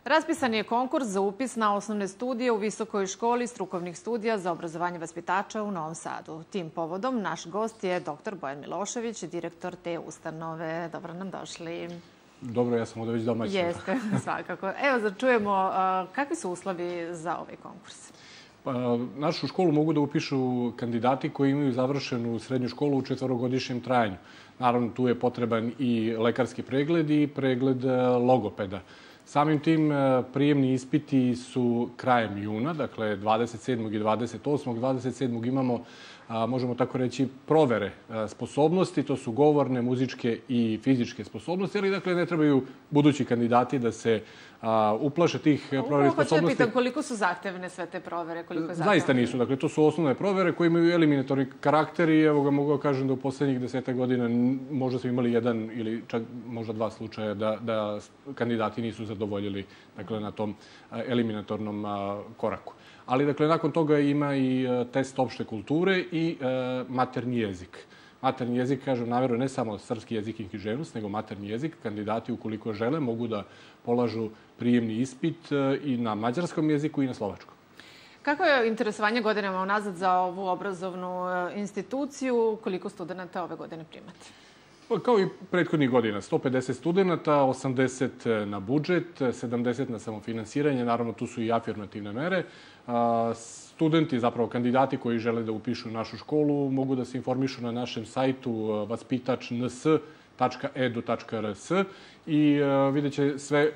Raspisan je konkurs za upis na osnovne studije u Visokoj školi strukovnih studija za obrazovanje vaspitača u Novom Sadu. Tim povodom naš gost je dr. Bojan Milošević, direktor te ustanove. Dobro nam došli. Dobro, ja sam ovdje već domaćin. Jeste, svakako. Evo, da čujemo kakvi su uslovi za ovaj konkurs. Našu školu mogu da upišu kandidati koji imaju završenu srednju školu u 4-godišnjem trajanju. Naravno, tu je potreban i lekarski pregled i pregled logopeda. Samim tim prijemni ispiti su krajem juna, dakle 27. i 28. 27. imamo, možemo tako reći, provere sposobnosti. To su govorne, muzičke i fizičke sposobnosti, ali dakle ne trebaju budući kandidati da se uplaše tih provere sposobnosti. Hoću da pitam koliko su zahtevne sve te provere? Zaista nisu. Dakle, to su osnovne provere koje imaju eliminatorni karakter i evo ga mogu da kažem da u poslednjih 10 godina možda smo imali jedan ili čak možda 2 slučaja da kandidati nisu zadovoljili na tom eliminatornom koraku. Ali, dakle, nakon toga ima i test opšte kulture i maternji jezik. Maternji jezik, kažem, namjerno ne samo srpski jezik i književnost, nego maternji jezik. Kandidati, ukoliko žele, mogu da polažu prijemni ispit i na mađarskom jeziku i na slovačkom. Kako je interesovanje godinama unazad za ovu obrazovnu instituciju? Koliko studenta ove godine primate? Kao i prethodnih godina, 150 studenta, 80 na budžet, 70 na samofinansiranje, naravno tu su i afirmativne mere. Studenti, zapravo kandidati koji žele da upišu našu školu, mogu da se informišu na našem sajtu vaspitač.ns.edu.rs i vidjet će sve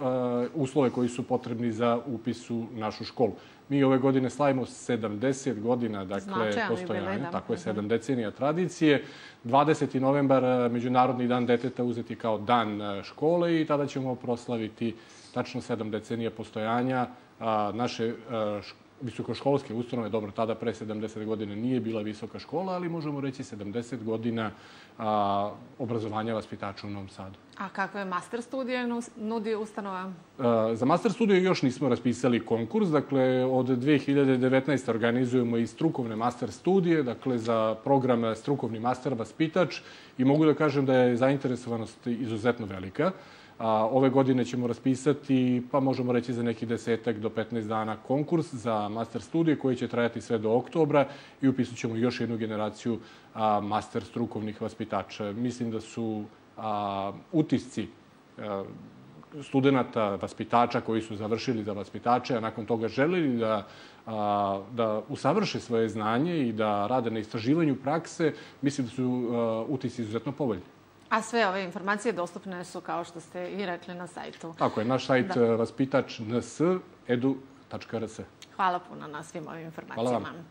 uslove koji su potrebni za upis u našu školu. Mi ove godine slavimo 70 godina, dakle, postojanja, tako je 7 decenija tradicije. 20. novembar, Međunarodni dan deteta, uzeti kao dan škole i tada ćemo proslaviti tačno 7 decenija postojanja naše visokoškolske ustanove. Dobro, tada pre 70 godina nije bila visoka škola, ali možemo reći 70 godina obrazovanja vaspitača u Novom Sadu. A kakve master studije nudi ustanova? Za master studije još nismo raspisali konkurs. Dakle, od 2019. organizujemo i strukovne master studije, dakle, za program strukovni master vaspitač i mogu da kažem da je zainteresovanost izuzetno velika. Ove godine ćemo raspisati, pa možemo reći za neki 10 do 15 dana konkurs za master studije koji će trajati sve do oktobra i upisat ćemo još jednu generaciju master strukovnih vaspitača. Mislim da su utisci studenta, vaspitača koji su završili za vaspitače, a nakon toga želeli da usavrše svoje znanje i da rade na istraživanju prakse, mislim da su utisci izuzetno povoljni. A sve ove informacije dostupne su, kao što ste i rekli, na sajtu. Tako je, naš sajt vaspitač.ns.edu.rs. Hvala puno na svim ovim informacijama. Hvala vam.